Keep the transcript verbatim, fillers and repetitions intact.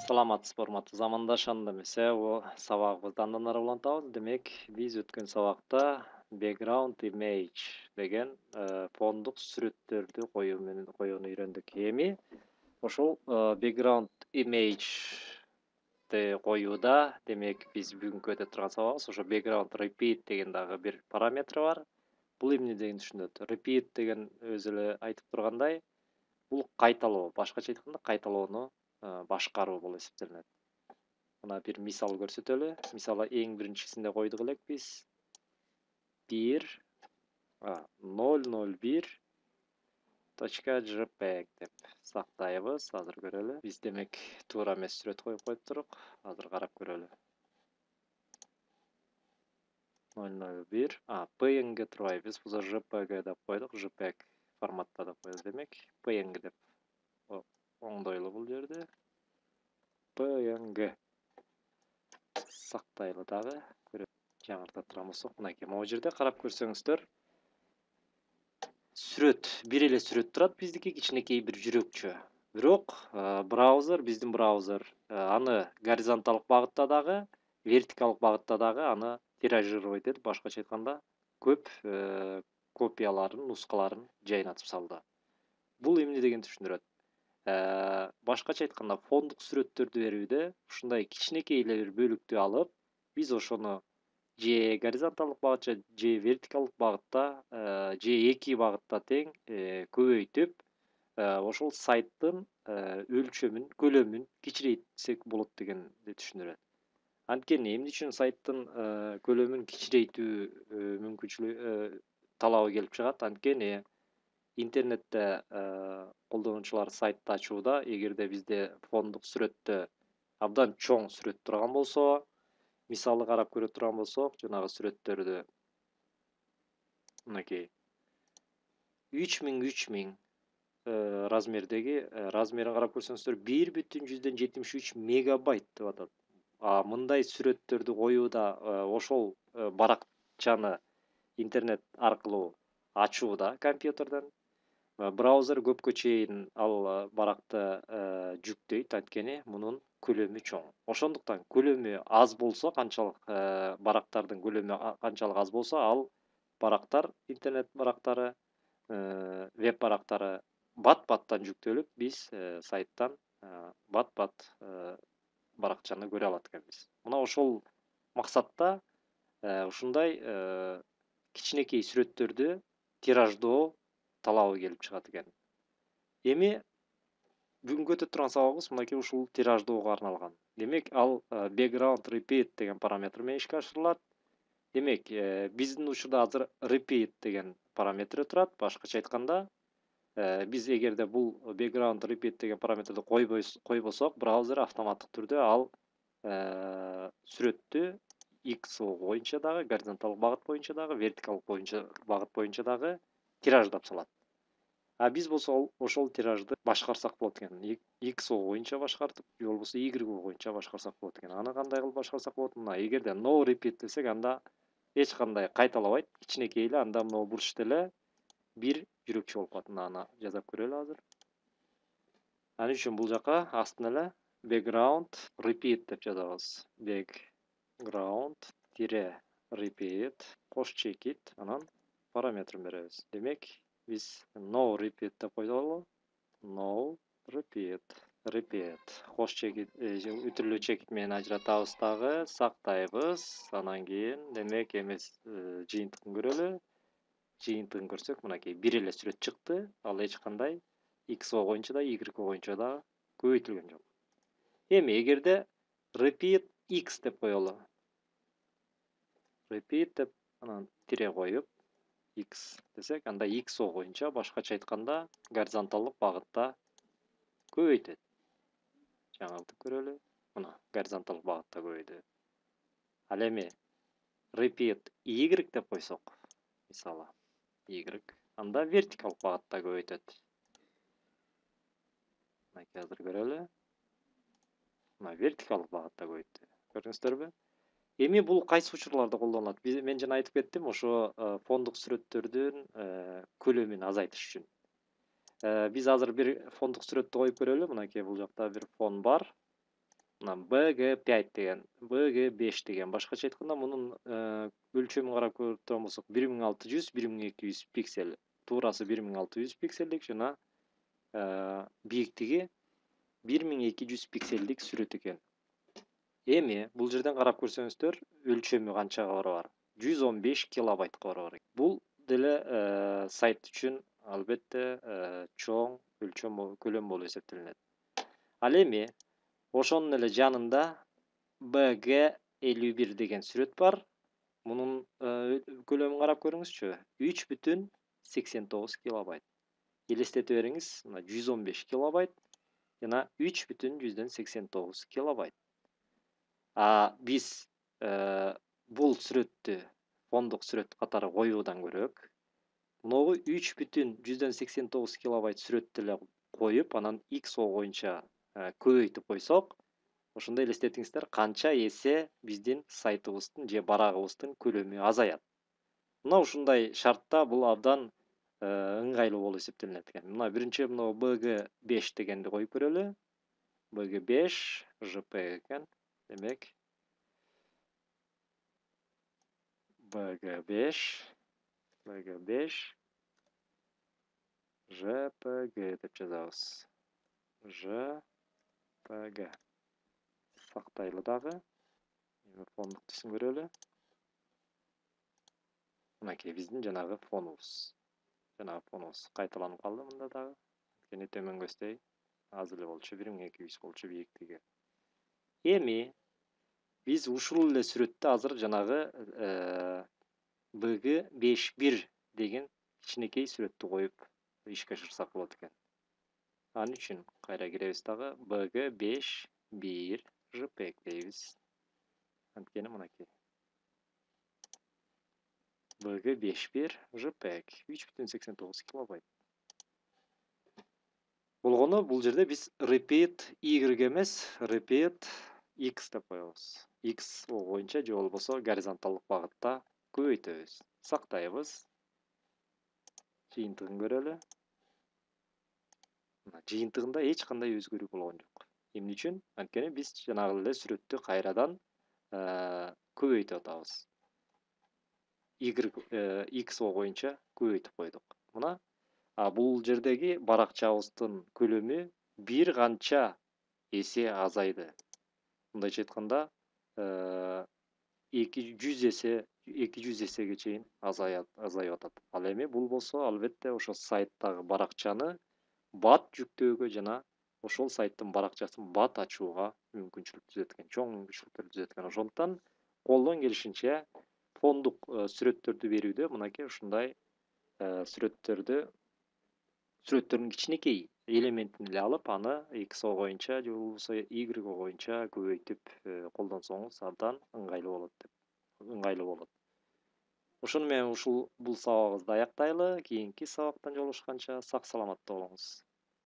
Саламатсызбы, урматтуу замандаş, анда эмесе бул сабагыбызды андан ары улантабыз. Демек, биз өткөн сабакта background image деген фондук сүрөттөрдү коюу менен коюуну үйрөндүк. Эми ошол background image'ти коюуда, демек, биз бүгүнкү өтө турган сабагыбыз ошо background repeat деген дагы бир параметри бар. Бул эмне дегенди түшүндүрөт? Repeat деген өзү эле айтып тургандай, бул кайталоо, башкача айтканда кайталоону башкаруу болуп эсептелинет. Мына бир мисал көрсөтөлү. Мисалы, эң биринчисинде койдук элек биз бир ноль ноль бир точка jpeg деп сактайбыз. Азыр көрөлү. Биз демек туура эмес сүрөт коюп коюптурук. Азыр карап көрөлү. ноль ноль бир png турбайбыз. Бул jpeg деп койдук. jpeg форматта деп койдук. Демек, png деп оңдойлу бул жерде. png сактайлы дагы. Жаңырта турган болсок, мынакей могу жерде карап көрсөңүздөр, сүрөт, бир эле сүрөт турат, биздики кичинекей бир жүрөкчө. Бирок браузер, биздин браузер аны горизонталдык багытта дагы, вертикалдык багытта дагы аны тиражировать этип, башкача айтканда, көп копияларын, нускаларын жайнатып салды. Бул эмне дегенди түшүндүрөт? Башкача айтканда, фондук сүрөттөрдү берүүдө ушундай кичинекей эле бир бөлүктү алып, биз ошону же горизонталдык багытча, же вертикалдык багытта, же эки багытта тең көбөйтүп, ошол сайттын өлчөмүн, көлөмүн кичирейтсек болот дегенди түшүндүрөт. Анткени эмне үчүн сайттын көлөмүн кичирейтүү мүмкүнчүлүгү, талабы келип чыгат? Анткени интернетте колдонуучулар сайтты ачууда, эгерде бизде фондук сүрөттө абдан чоң сүрөт турган болсо, мисалы карап көрө турган болсок, жанагы сүрөттөрдү мынакей үч миң үч миң размердеги, размерин карап көрсөңүздөр, бир бүтүн жүздөн жетимиш үч мегабайт деп атат. А мындай сүрөттөрдү коюуда, ошол баракчаны интернет аркылуу ачууда компьютерден, браузер көпкө чейин ал баракты жүктөйт, анткени мунун көлөмү чоң. Ошондуктан көлөмү аз болсо, канчалык барактардын көлөмү канчалык аз болсо, ал барактар, интернет барактары, веб барактары бат-баттан жүктөлүп, биз сайттан бат-бат баракчаны көрө алат экенбиз. Мына ошол максатта ушундай кичинекей сүрөттөрдү тираждоо талабы келип чыгат экен. Эми бүгүнкү өтө турган сабагыбыз мынакей ушул тираждоого арналган. Демек, ал background repeat деген параметр менен ишке ашырылат. Демек, биздин учурда азыр repeat деген параметри турат. Башкача айтканда, биз эгерде бул background repeat деген параметрди койбосок, браузер автоматтык түрдө ал сүрөттү X боюнча дагы, горизонталдык багыт боюнча дагы, вертикалдык боюнча багыт боюнча дагы тираждап салат. А биз болсо ошол тиражды башкарсак болот экен. X боюнча башкартып, же болбосо Y боюнча башкарсак болот экен. Аны кандай кылып башкарсак болот? Мына, эгерде no repeat десек, анда эч кандай кайталабайт, кичинекей эле, анда могу бурчта эле бир жүрөкчө болуп калат. Мына аны жасап көрөлү азыр. Ал үчүн бул жака астына эле background repeat деп жазабыз. Background repeat кош чекит, анан параметрин беребиз. Демек, биз no repeat деп койдолу. No repeat. Repeat. Кош чекит, үтүрлүү чекит менен ажыратабыз дагы, сактайбыз. Анан кийин, демек, эмес жыйынтыгын көрөлү. Жыйынтыгын көрсөк, мынакей бир эле сүрөт чыкты. Ал эч кандай X боюнча да, Y боюнча да көбөйтүлгөн жок. Эми эгерде repeat X деп коелу. Repeat деп анан тире коюп X десек, анда X боюнча, башкача айтканда, горизонталдык багытта көбөйтөт. Жаңылтып көрөлү. Мына, горизонталдык багытта көбөйдү. Ал эми repeat Y деп койсок, мисалы, Y, анда вертикалдык багытта көбөйтөт. Мынакей азыр көрөлү. Мына вертикалдык багытта көбөйттү. Көрдүңүздөрбү? Эми бул кайсы учурларда колдонулат? Биз мен жана айтып кеттим, ошо э, фондук сүрөттөрдүн э, көлөмүн азайтыш үчүн. Э, Биз азыр бир фондук сүрөттү коюп көрөлү. Мынакей бул жакта бир фон бар. Мына бэ гэ пять деген, бэ гэ беш деген. Башкача айтканда мунун э, өлчөмүн карап көрүп турган болсок, бир миң алты жүз, бир миң эки жүз пиксель. Туурасы бир миң алты жүз пикселдик жана э, бийиктиги бир миң эки жүз пикселдик сүрөт экен. Эми бул жерден карап көрсөңүздөр, өлчөмү канчага барабар? жүз он беш килобайтка барабар. Бул деле э, сайт үчүн албетте э, чоң өлчөм болуп, көлөм болуп эсептелинет. Ал эми ошонун эле жанында бэ гэ элүү бир деген сүрөт бар. Мунун э, көлөмүн карап көрүңүзчү. үч бүтүн сексен тогуз килобайт. Элестете бериңиз, мына жүз он беш килобайт жана үч бүтүн жүздөн сексен тогуз килобайт. А биз э, бул сүрөттү фондук сүрөт катары коюудан көрөөк, могу үч бүтүн жүздөн сексен тогуз килобайт сүрөттү эле коюп, анан икс о боюнча э, көбөйтүп койсок, ошондо элестетиңиздер канча эсе биздин сайтыбыздын же барагыбыздын көлөмү азаят. Мына ушундай шартта бул абдан э, ыңгайлуу болуп эсептелинет экен. Мына биринчи мына бэ гэ беш дегенди коюп көрөлү. бэ гэ беш жэ пэ гэ экен. Демек бэ гэ беш, бэ гэ беш жэ пэ гэ деп жазабыз. жэ пэ гэ. Сактайлы дагы. Эми фондук түсүн көрөлү. Мынакей биздин жанагы фонубуз. Жанагы фонубуз кайталанып калды мында дагы. Анткени төмөнгөсдөй аз эле болчу, бир миң эки жүз болчу бийиктиги. Эми биз ушул эле сүрөттү азыр жанагы бэ гэ беш бир деген кичинекей сүрөттү коюп ишке ашырсак болот экен. Ал үчүн кайра киребиз дагы. бэ гэ беш бир жэ пэ гэ дейбиз. Анткени мынакей. бэ гэ беш бир жэ пэ гэ үч бүтүн сексен тогуз килобайт. Болгону бул жерде биз repeat y эмес, repeat x деп коебуз. X о боюнча же болбосо горизонталдык багытта көбөйтөбүз. Сактайбыз. Жыйынтыгын көрөлү. Жыйынтыгында эч кандай өзгөрүү болгон жок. Эмне үчүн? Анткени биз жанагы эле сүрөттү кайрадан көбөйтүп атабыз. Y x о боюнча көбөйтүп койдук. Мына а бул жердеги баракчабыздын көлөмү бир канча эсе азайды. Мындайча айтканда, эки жүз эсе, эки жүз эсеге чейин азаят, азайып атат. Ал эми бул болсо албетте ошо сайттагы баракчаны бат жүктөөгө жана ошол сайттын баракчасын бат ачууга мүмкүнчүлүк түзөт экен, чоң мүмкүнчүлүктөр түзөт экен. Ошондуктан колдон келишинче фондук сүрөттөрдү берүүдө мынакей ушундай сүрөттөрдү сүрөттөрдүн кичинекей элементин эле алып, аны икс о боюнча же болбосо y о боюнча көбөйтүп колдонсоңуз абдан ыңгайлуу болот деп, ыңгайлуу болот. Ошону менен ушул бул сабагыбызды аяктайлы. Кийинки сабактан жолугушканча сак саламатта болуңуз.